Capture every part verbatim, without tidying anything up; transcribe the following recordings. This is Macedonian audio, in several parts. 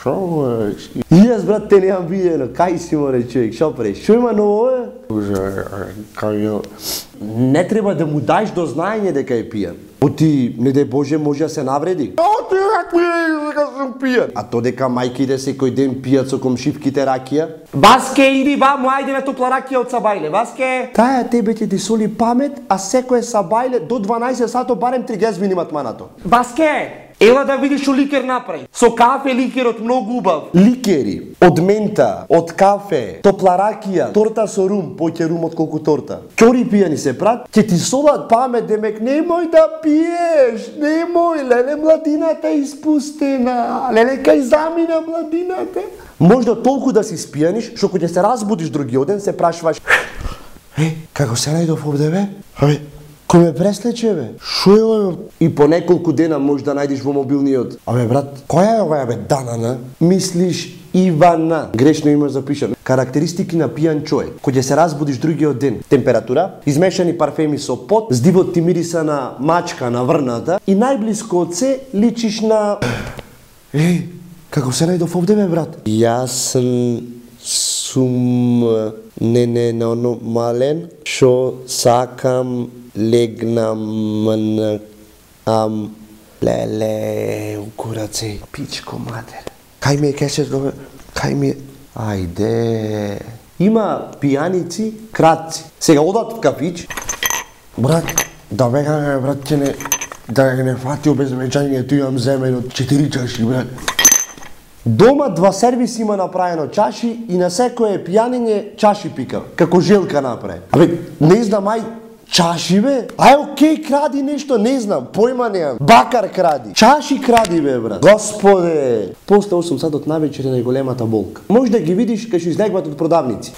Шо е? И јас, брат, те немам видено. Кај си, море, човек, шо преш? Шо има ново, е? Кај е? Не треба да му даеш до знаење дека е пијан. Оти, не дај Боже, може да се навреди. А ти как ми е дека сум пијан? А то дека мајките секој ден пијат со комшивките ракија? Баске, иди ваму, ајде ме топла ракија од Сабајле, Баске! Таја тебе ќе ти соли памет, а секој Сабајле до дванаесет сато барем три гезбини матманато. Баске! Ела да видиш што ликер направи. Со кафе ликерот многу убав. Ликери, од мента, од кафе, топла ракија, торта со рум, поќе рум од колку торта. Ќори пијани се прат, ќе ти солат памет, демек немој да пиеш, немој, леле младината е испустена, леле кај замина младината. Можда толку да си спијаниш, што кога ќе се разбудиш другиот ден се прашуваш: Е, како се најдов овде, бе? Абе, кој ме преслече, бе? Шо е ово? И по неколку дена може да најдеш во мобилниот. Абе, брат, која е оваа, бе, Данана? Мислиш Ивана. Грешно има запишано. Карактеристики на пијан човек. Кога ќе се разбудиш другиот ден, температура, измешани парфеми со пот, здивот ти мириса на мачка на врната и најблиско од се личиш на... Еј, како се најдов овде, бе, брат? Јас сум ненормален, шо сакам легнам на ам леле укураце пичко матер. Кај ми е кешет, кај ми е... Ајде... Има пијаници кратци. Сега одат в кафич. Брат, да бега, брат, ќе не... Да не фати обезмечањето, имам земен од четири чаши, брат. Дома два сервис има направено чаши и на секое пијаниње чаши пика, како Желка направи. Абе, не знам, ај, чаши, бе? Ај, окей, кради нешто, не знам, појма неам. Бакар кради. Чаши кради, бе, брат. Господе! После осум сатот навечер е најголемата болка. Може да ги видиш кај што излегват од продавници.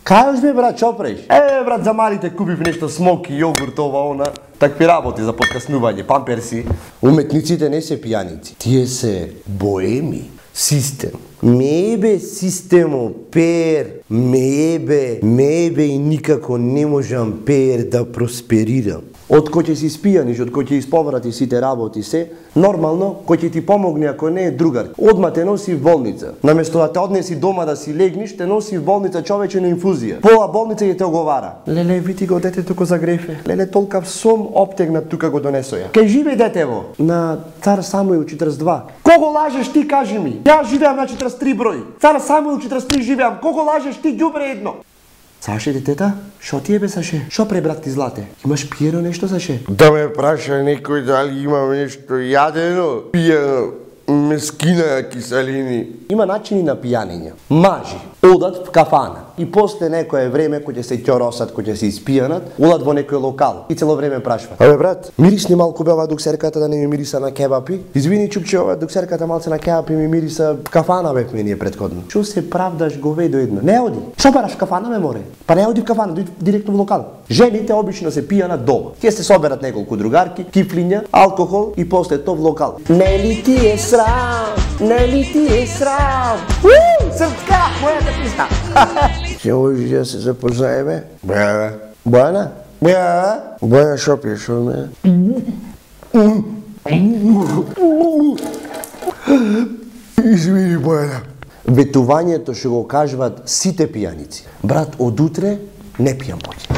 Кај бе, брат, шо преш? Е, брат, за малите купив нешто смоки, јогурт, ова, она. Такви работи за подкаснување, памперси. Уметниците не се пијаници. Тие се боеми. Систем. Мебе системо, пер, мебе, мебе и никако не можам пер да просперирам. Од кој ќе си спијаниш, од кој ќе исповрати сите работи се, нормално, кој ќе ти помогне ако не е другар. Одма те носи в болница. Наместо да те однеси дома да си легниш, те носи в болница човече на инфузија. Пола болница ќе те оговара. Леле, види го детето го загрефе. Леле, толкав сом оптегнат тука го донесоја. Кај живе детево? На Цар Самуил четиридесет и два. Кого лажеш ти, кажи ми? Јас живеам на четиридесет и три број. Цар Самуил четиридесет и три живеам. Кого лажеш ти, ѓубре едно? Саше, детета, шо ти е, бе, Саше? Шо пре, брат ти злате? Имаш пиено нешто, Саше? Да ме праша некој дали имам нешто јадено, пиено, мескина киселини. Има начини на пијанење. Мажи одат в кафана и после некое време кој ќе се ќоросат, кој ќе се испијанат, одат во некој локал и цело време прашваат: Абе, брат, мирисни малку бе ова дуксерката да не ми мириса на кебапи? Извини, чукче, ова дуксерката малце на кебапи ми мириса в кафана, бе, мене е претходно. Шо се правдаш, говедо едно? Не оди. Шо бараш в кафана, ме море? Па не оди в кафана, дојди директно во локал. Жените обично се пијанат дома. Тие се соберат неколку другарки, кифлиња, алкохол и после тоа в локал. Нели ти е срам? Нели ти е срам? Уу, српска, мојата писта. Ќе можеш да се запознаеме? Бе, Бојана? бе, Бојана, шо пиеш од мене? Извини, Бојана. Ветувањето што го кажуваат сите пијаници. Брат, од утре не пијам поќе.